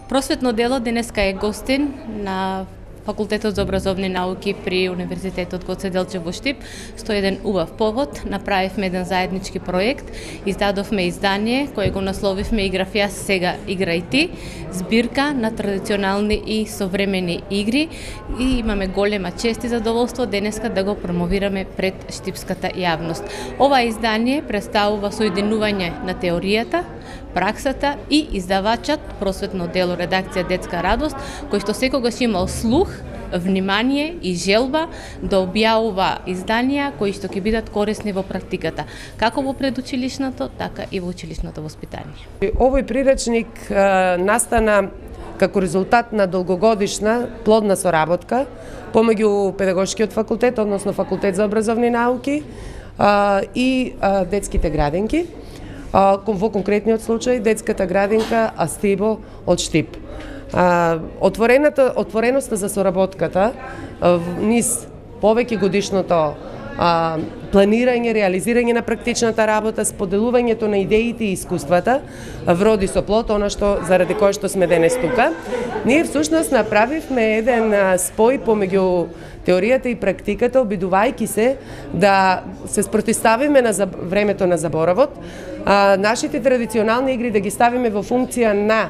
Просветно дело денеска е гостин на Факултетот за образовни науки при Универзитетот Гоце Делчев во Штип. 101 убав повод, направивме еден заеднички проект, издадовме издание кое го насловивме Играв јас, сега играј ти, збирка на традиционални и современи игри, и имаме голема чест и задоволство денеска да го промовираме пред штипската јавност. Ова издание представува соединување на теоријата, праксата и издавачот Просветно дело редакција Детска радост, кој што секогаш имал слух, внимание и желба да објавува изданија кои што ќе бидат корисни во практиката, како во предучилишното, така и во училишното воспитание. Овој приречник настана како резултат на долгогодишна плодна соработка помеѓу Педагошкиот факултет, односно Факултет за образовни науки и детските градинки. Во конкретниот случај детската градинка Астибо од Штип. Отвореноста за соработката низ повеќе годишното планирање, реализирање на практичната работа, споделувањето на идеите и искуствата вроди со плод, она што заради кое што сме денес тука. Ние всушност направивме еден спој помеѓу теоријата и практиката, обидувајќи се да се спротивставиме на времето на заборавот, нашите традиционални игри да ги ставиме во функција на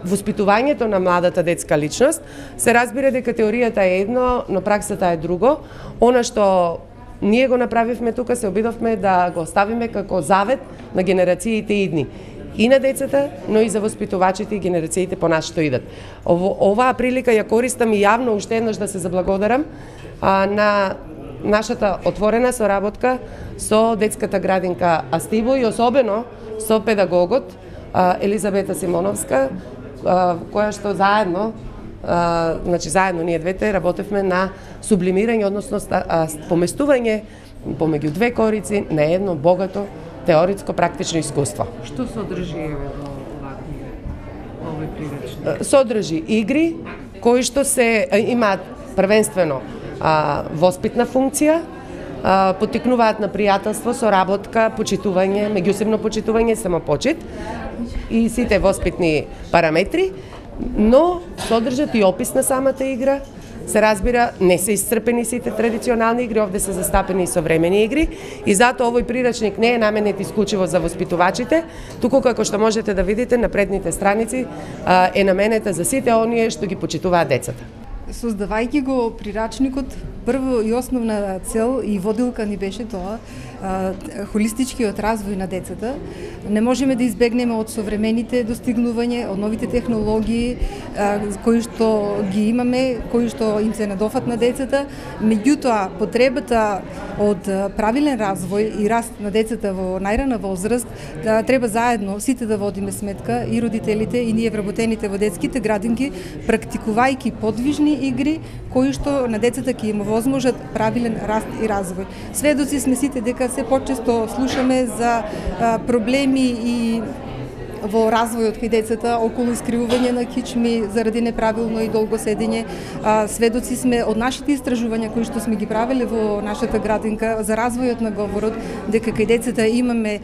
воспитувањето на младата детска личност. Се разбира дека теоријата е едно, но праксата е друго. Она што ние го направивме тука, се обидовме да го оставиме како завет на генерациите идни. И на децата, но и за воспитувачите и генерациите по нас што идат. Оваа прилика ја користам и јавно уште еднаш да се заблагодарам на нашата отворена соработка со детската градинка Астибо и особено со педагогот Елизабета Симоновска, која што заедно, заедно ние двете работевме на сублимирање, односно поместување помеѓу две корици на едно богато теоритско практично искуство. Што содржи во овој приречник? Содржи игри кои што се имаат првенствено воспитна функција, поттикнуваат на пријателство, соработка, почитување, меѓусебно почитување, самопочит и сите воспитни параметри, но содржат и опис на самата игра. Се разбира, не се исцрпени сите традиционални игри, овде се застапени и современи игри, и затоа овој приречник не е наменет исклучиво за воспитувачите, туку како што можете да видите на предните страници е наменета за сите оние што ги почитуваат децата. Создавајќи го прирачникот, прво и основна цел и водилка ни беше тоа, холистичкиот развој на децата. Не можеме да избегнеме од современите достигнувања, од новите технологии кои што ги имаме, кои што им се надофат на децата, меѓутоа потребата од правилен развој и раст на децата во најрана возраст треба заедно сите да водиме сметка, и родителите и ние вработените во детските градинки, практикувајќи подвижни игри кои што на децата ќе им овозможат правилен раст и развој. Сведоци сме сите дека се почесто слушаме за проблеми и во развојот кај децата околу искривување на кичми заради неправилно и долго седење. Сведоци сме од нашите истражувања кои што сме ги правеле во нашата градинка за развојот на говорот, дека кај децата имаме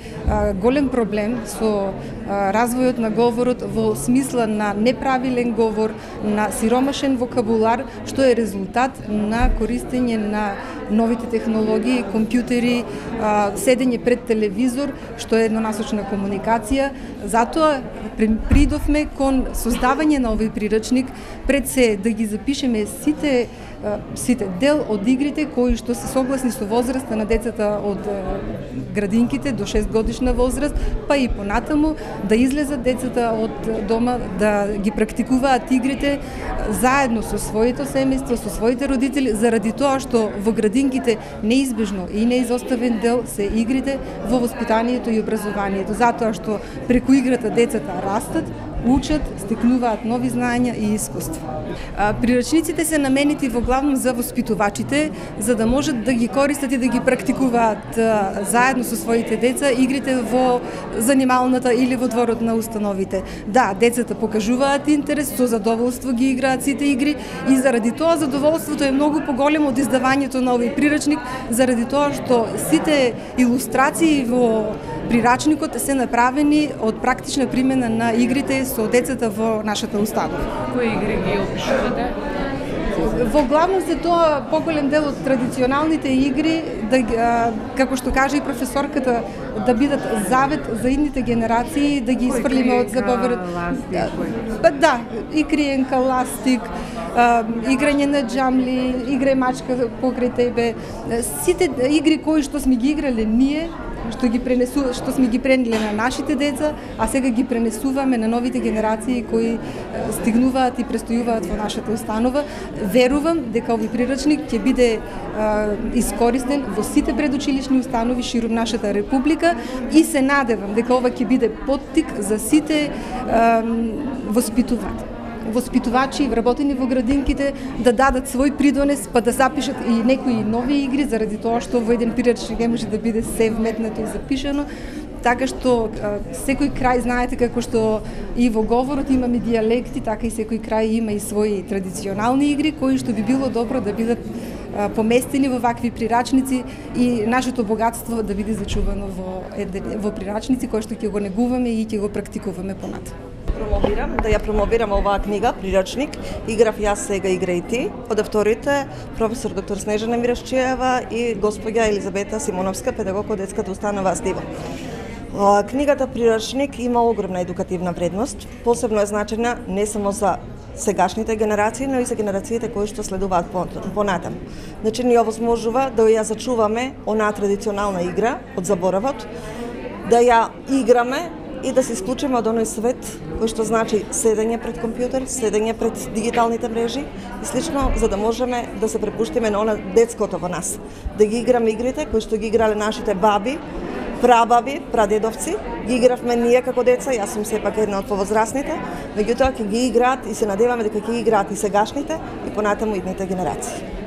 голем проблем со развојот на говорот во смисла на неправилен говор, на сиромашен вокабулар, што е резултат на користење на новите технологии, компјутери, седење пред телевизор, што е еднонасочна комуникација. Затоа придовме кон создавање на овој приречник, пред се да ги запишеме сите дел од игрите кои што се согласни со возраста на децата од градинките до 6 годишна возраст, па и понатаму да излезат децата од дома, да ги практикуваат игрите заедно со своето семејство, со своите родители, заради тоа што во градинките неизбежно и неизоставен дел се игрите во воспитанието и образованието, затоа што преку играта децата растат, учат, стекнуваат нови знаења и искуство. Приречниците се наменети во главно за воспитувачите, за да можат да ги користат и да ги практикуваат заедно со своите деца игрите во занималната или во дворот на установите. Да, децата покажуваат интерес, со задоволство ги играат сите игри и заради тоа задоволството е многу поголемо од издавањето на овој приречник, заради тоа што сите илустрации во прирачникот се направени од практична примена на игрите со децата во нашата установа. Кои игри ги опишувате? Во главност е тоа поголем дел од традиционалните игри, како што кажа и професорката, да бидат завет за идните генерации, да ги исфрлиме од забаварот. Да, и криенка, ластик, играње на џамли, играј мачка покрај тебе. Сите игри кои што сме ги играле ние, што сме ги пренеле на нашите деца, а сега ги пренесуваме на новите генерации кои стигнуваат и престојуваат во нашата установа. Верувам дека овој прирачник ќе биде искористен во сите предучилишни установи ширум нашата република и се надевам дека ова ќе биде поттик за сите воспитувачи вработени во градинките да дадат свој придонес, па да запишат и некои нови игри, заради тоа што во еден прирачник не може да биде се вметнато и запишано. Така што секој крај, знаете како што и во говорот имаме дијалекти, така и секој крај има и своји традиционални игри кои што би било добро да бидат поместени во вакви прирачници и нашето богатство да биде зачувано во прирачници кои што ќе го негуваме и ќе го практикуваме понатаму. Да ја промовирам оваа книга, прирачник, играв јас, сега игра и ти, од авторите професор доктор Снежана Мирашчиева и господја Елизабета Симоновска, педагог од детската установа Астива. Книгата Прирачник има огромна едукативна вредност, посебно е значена не само за сегашните генерации, но и за генерациите кои што следуваат понатаму. Значи ни овозможува да ја зачуваме онаа традиционална игра од заборавот, да ја играме и да се исклучиме од оној свет кој што значи седење пред компјутер, седење пред дигиталните мрежи и слично, за да можеме да се препуштиме на она детското во нас. Да ги играме игрите кои што ги играле нашите баби, прабаби, прадедовци, ги игравме ние како деца, јас сум сепак една од повозрасните, меѓутоа ќе ги играат и се надеваме дека ќе играат и сегашните и понатаму идните генерации.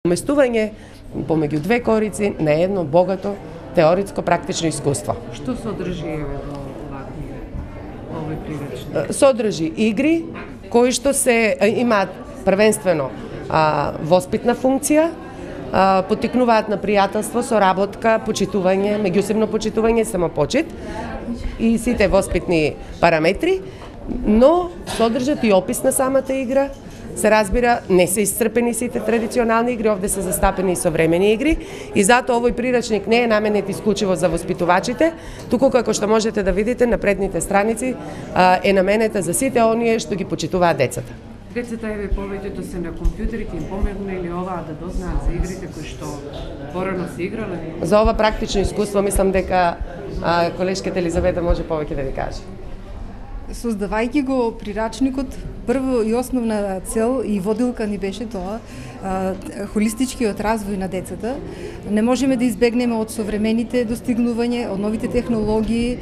Уместување помеѓу две корици на едно богато теоритско практично искуство. Што содржи во оваа книга? Овој прирачник? Содржи игри кои што се имаат првенствено воспитна функција, поттикнуваат на пријателство, соработка, почитување, меѓусебно почитување, самопочит и сите воспитни параметри, но содржат и опис на самата игра. Се разбира, не се исцрпени сите традиционални игри, овде се застапени и современи игри и затоа овој прирачник не е наменет исклучиво за воспитувачите, туку како што можете да видите на предните страници е наменета за сите оние што ги почитуваат децата. Децата еве повеќето се на компјутери, ќе им помогне или оваа да дознаат за игрите кои што порано се играле? За ова практично искуство мислам дека колешката Елизабета може повеќе да ви каже. Создавајќи го прирачникот, прво и основна цел и водилка ни беше тоа, холистичкиот развој на децата. Не можеме да избегнеме од современите достигнувања, од новите технологии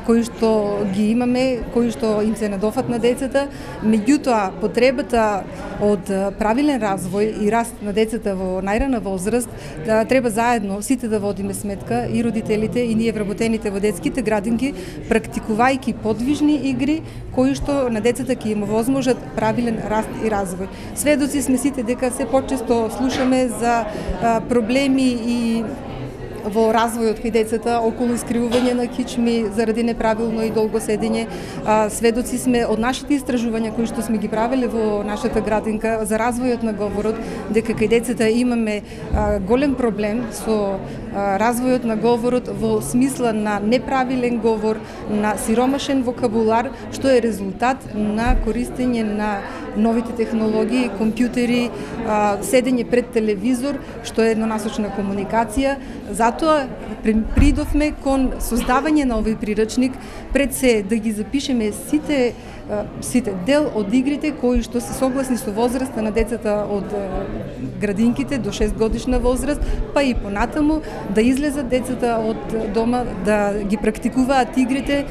кои што ги имаме, кои што им се надофат на децата, меѓутоа потребата од правилен развој и раст на децата во најрана возраст, треба заедно сите да водиме сметка, и родителите, и ние вработените во детските градинки, практикувајќи подвижни игри кои што на децата ќе им овозможат правилен раст и развој. Сведоци сме сите дека се почесто слушаме за проблеми и во развојот кај децата околу искривување на кичми заради неправилно и долго седење. Сведоци сме од нашите истражувања кои што сме ги правеле во нашата градинка за развојот на говорот, дека кај децата имаме голем проблем со развојот на говорот во смисла на неправилен говор, на сиромашен вокабулар, што е резултат на користење на новите технологии, компјутери, седење пред телевизор, што е еднонасочна комуникација. Затоа придовме кон создавање на овој прирачник, пред се да ги запишеме сите дел од игрите кои што се согласни со возраста на децата од градинките до 6 годишна возраст, па и понатаму да излезат децата од дома, да ги практикуваат игрите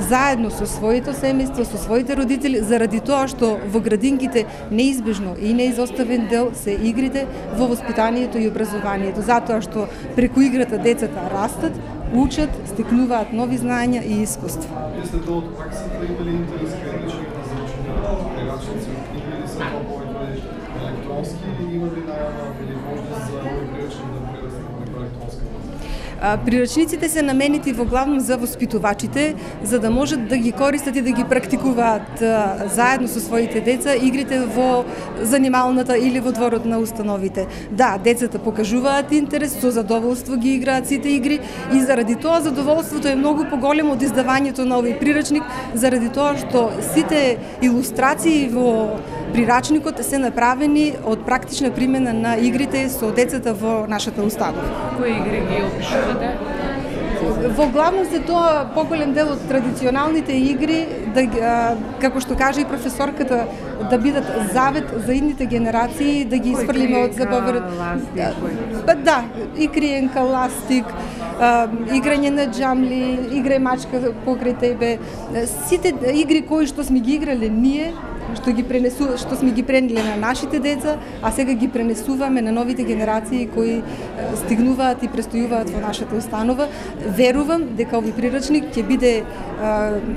заедно со своето семејство, со своите родители, заради тоа што во градинките неизбежно и неизоставен дел се игрите во воспитанието и образованието, затоа што преку играта децата растат, учат, стекнуваат нови знања и искуство. Jeste to od praksite imali interes kritičnih različnih priračnici od knjige ili sam to povijek elektronski i imali najava ili možda za ovaj priračnik da preraste na neko elektronski? Прирачниците се наменети во главно за воспитувачите, за да можат да ги користат и да ги практикуваат заедно со своите деца игрите во занималната или во дворот на установите. Да, децата покажуваат интерес, со задоволство ги играат сите игри и заради тоа задоволството е многу поголемо од издавањето на овој прирачник, заради тоа што сите илустрации во прирачникот се направени од практична примена на игрите со децата во нашата установа. Кои игри ги опишувате? Во главно се тоа поголем дел од традиционалните игри, како што кажа и професорката, да бидат завет за идните генерации, да ги исфрлиме од забаварот. Да, и криенка, ластик, играње на џамли, играј мачка покрај тебе. Сите игри кои што сме ги играле ние, што сме ги пренеле на нашите деца, а сега ги пренесуваме на новите генерации кои стигнуваат и престојуваат во нашата установа. Верувам дека овој прирачник ќе биде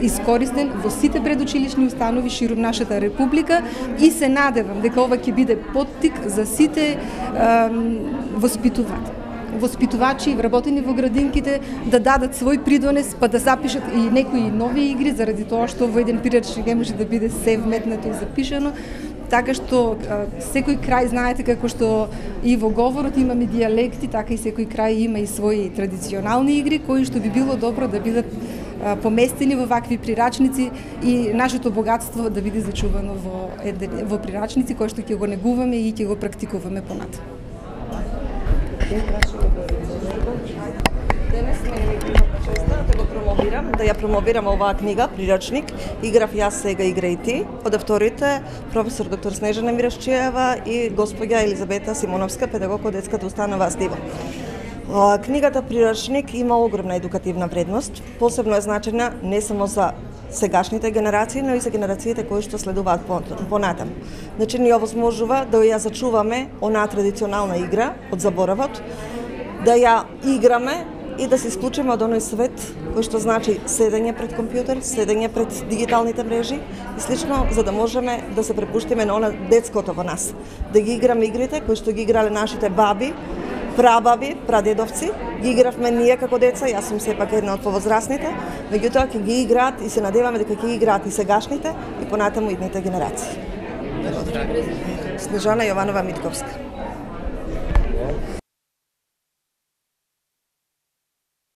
искористен во сите предучилишни установи ширум нашата република и се надевам дека ова ќе биде поттик за сите воспитувачи, вработени во градинките, да дадат свој придонес, па да запишат и некои нови игри, заради тоа што во еден прирачник не може да биде се вметнато и запишано. Така што секој крај, знаете како што и во говорот имаме дијалекти, така и секој крај има и своји традиционални игри кои што би било добро да бидат поместени во вакви прирачници и нашето богатство да биде зачувано во прирачници кои што ќе го негуваме и ќе го практикуваме понатаму. Денес ме имам честа да ја промовирам оваа книга, прирачник, Играв јас, сега играј ти, од авторите професор доктор Снежана Мирашчиева и господја Елизабета Симоновска, педагог од детската установа Астива. Книгата Прирачник има огромна едукативна вредност, посебно е значена не само за сегашните генерации, но и за генерациите кои што следуваат понатаму. Значи, ни овозможува да ја зачуваме онаа традиционална игра од заборавот, да ја играме и да се исклучиме од оној свет кој што значи седење пред компјутер, седење пред дигиталните мрежи и слично, за да можеме да се препуштиме на она детското во нас, да ги играме игрите кои што ги играле нашите баби, прабаби, прадедовци, ги игравме ние како деца, јас сум сепак една од повозрасните, меѓутоа ќе ги играат и се надеваме дека ќе ги играат и сегашните и понатаму идните генерации. Снежана Јованова Митковска.